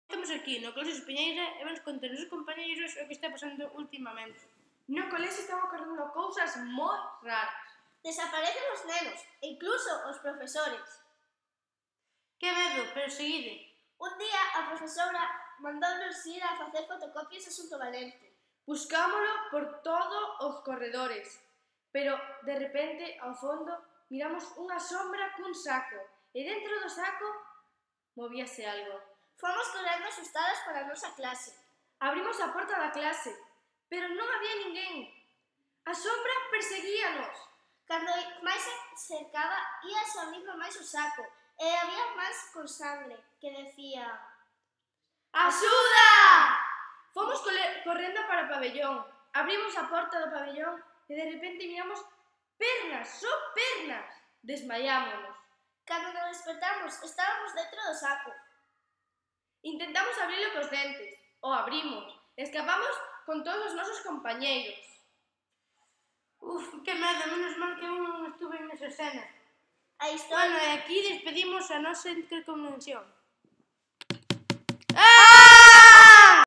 Estamos aquí no Colexio Espiñeira e vamos contar aos compañeiros o que está pasando ultimamente. No colexio están ocorrendo cousas moi raras. Desaparecen os nenos, e incluso os profesores. Que medo, pero seguide. Un día a profesora mandounos ir a facer fotocopias a Xunto Valente. Buscámolo por todos os corredores, pero de repente, ao fondo, miramos unha sombra cun saco e dentro do saco movíase algo. Fomos correndo asustadas para a nosa clase. Abrimos a porta da clase, pero non había ninguén. A sombra perseguíanos. Cando máis se acercaba, ia abrindo máis o saco e había máis con sangre que decía: Axuda! Fomos correndo para o pabellón. Abrimos a porta do pabellón e de repente miramos pernas, só pernas. Desmaiámonos. Cando nos despertamos, estábamos dentro do saco. Intentamos abrilo cos dentes. O abrimos. Escapamos con todos os nosos compañeiros. Que medo, menos mal que eu non estuve nesa escena. A historia... Bueno, e aquí despedimos a nosa interconvención.